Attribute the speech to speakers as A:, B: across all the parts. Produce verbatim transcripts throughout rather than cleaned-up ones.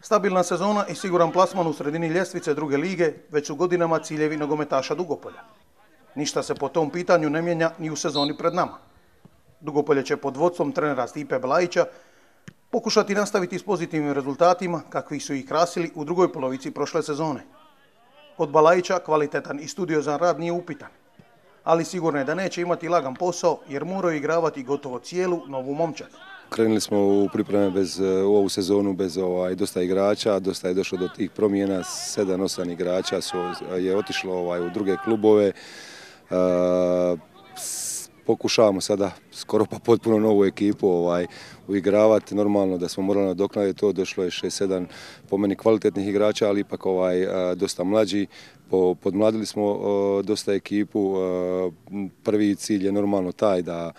A: Stabilna sezona i siguran plasman u sredini ljestvice druge lige već su godinama ciljevi nogometaša Dugopolja. Ništa se po tom pitanju ne mijenja ni u sezoni pred nama. Dugopolje će pod vodstvom trenera Stipe Belajića pokušati nastaviti s pozitivnim rezultatima kakvi su ih krasili u drugoj polovici prošle sezone. Kod Belajića kvalitetan i studiozan rad nije upitan, ali sigurno je da neće imati lagan posao jer moraju igravati gotovo cijelu novu momčad.
B: Krenuli smo u pripreme bez, u ovu sezonu bez ovaj, dosta igrača, dosta je došlo do tih promjena, sedam osam igrača su, je otišlo ovaj, u druge klubove. E, pokušavamo sada skoro pa potpuno novu ekipu ovaj, uigravati, normalno da smo morali nadoknaditi to, došlo je šest sedam po meni kvalitetnih igrača, ali ipak ovaj, dosta mlađi. Podmladili smo dosta ekipu, prvi cilj je normalno taj da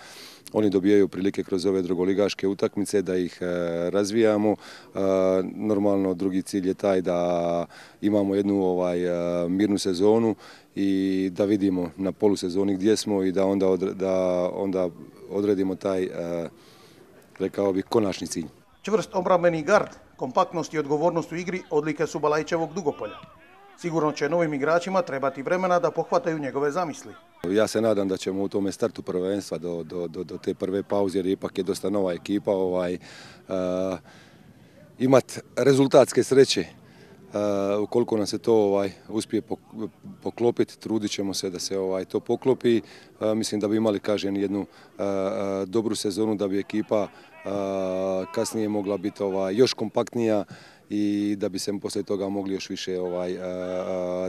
B: oni dobijaju prilike kroz ove drugoligaške utakmice, da ih razvijamo. Normalno drugi cilj je taj da imamo jednu ovaj, mirnu sezonu i da vidimo na polusezoni gdje smo i da onda, odre, da onda odredimo taj, rekao bih, konačni cilj.
A: Čvrst obrambeni gard, kompaktnost i odgovornost u igri odlike su Belajićevog Dugopolja. Sigurno će novim igračima trebati vremena da pohvataju njegove zamisli.
B: Ja se nadam da ćemo u tome startu prvenstva do, do, do, do te prve pauze, jer ipak je dosta nova ekipa, ovaj, uh, imati rezultatske sreće. Uh, ukoliko nam se to ovaj, uspije poklopiti, trudit ćemo se da se ovaj, to poklopi. Uh, mislim da bi imali, kažem, jednu uh, dobru sezonu, da bi ekipa uh, kasnije mogla biti ovaj, još kompaktnija i da bi se poslije toga mogli još više ovaj,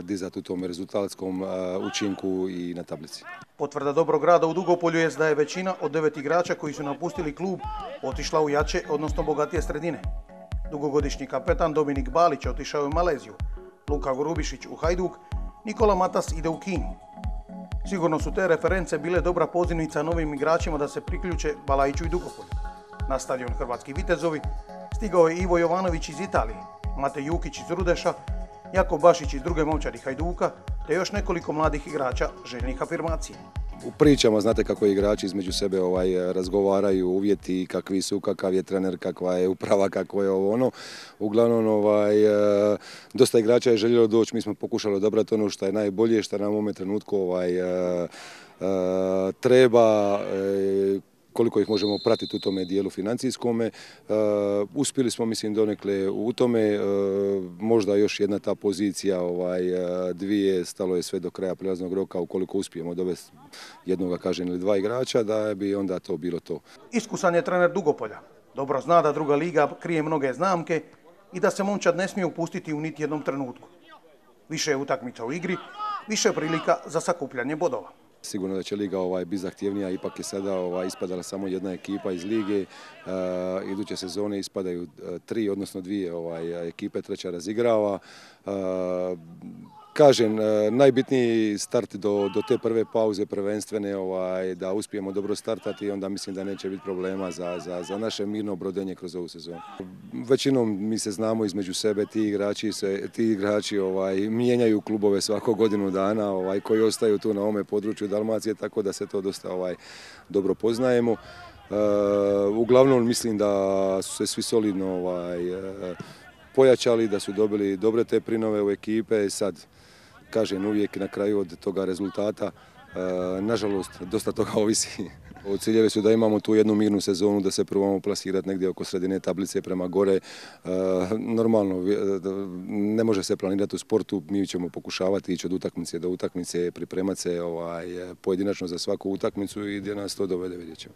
B: dizati u tom rezultatskom učinku i na tablici.
A: Potvrda dobrog rada u Dugopolju je da je većina od devet igrača koji su napustili klub otišla u jače, odnosno bogatije sredine. Dugogodišnji kapetan Dominik Balić otišao u Maleziju, Luka Grubišić u Hajduk, Nikola Matas ide u Kinu. Sigurno su te reference bile dobra pozivnica novim igračima da se priključe Belajiću i Dugopolju. Na stadion Hrvatski Vitezovi stigao je Ivo Jovanović iz Italije, Matej Jukić iz Rudeša, Jako Bašić iz druge momčadi Hajduka, te još nekoliko mladih igrača željnih afirmacije.
B: U pričama znate kako igrači između sebe ovaj, razgovaraju, uvjeti kakvi su, kakav je trener, kakva je uprava, kako je ovo ono. Uglavnom, ovaj, dosta igrača je željelo doći, mi smo pokušali odabrati ono što je najbolje, što nam u ovome trenutku ovaj, treba, koliko ih možemo pratiti u tome dijelu financijskome. Uh, uspjeli smo, mislim, donekle u tome, uh, možda još jedna ta pozicija, ovaj, uh, dvije, stalo je sve do kraja prijelaznog roka, ukoliko uspijemo dovesti jednoga, kažem, ili dva igrača, da bi onda to bilo to.
A: Iskusan je trener Dugopolja. Dobro zna da druga liga krije mnoge znamke i da se momčad ne smije upustiti u niti jednom trenutku. Više je utakmica u igri, više prilika za sakupljanje bodova.
B: Sigurno da će liga ovaj, biti zahtjevnija, ipak je sada ovaj, ispadala samo jedna ekipa iz lige. E, iduće sezone ispadaju tri, odnosno dvije ovaj, ekipe, treća razigrava. E, kažem, najbitniji start do, do te prve pauze prvenstvene, ovaj, da uspijemo dobro startati, onda mislim da neće biti problema za, za, za naše mirno brodenje kroz ovu sezonu. Većinom mi se znamo između sebe, ti igrači, se, ti igrači ovaj, mijenjaju klubove svako godinu dana, ovaj, koji ostaju tu na ovome području Dalmacije, tako da se to dosta ovaj, dobro poznajemo. E, uglavnom mislim da su se svi solidno ovaj, pojačali, da su dobili dobre te prinove u ekipe. Sad, kažem, uvijek na kraju od toga rezultata, e, nažalost, dosta toga ovisi. Ciljeve su da imamo tu jednu mirnu sezonu, da se probamo plasirati negdje oko sredine tablice prema gore. E, normalno, ne može se planirati u sportu, mi ćemo pokušavati ići od utakmice do utakmice, pripremati se ovaj, pojedinačno za svaku utakmicu i gdje nas to dovede, vidjet ćemo.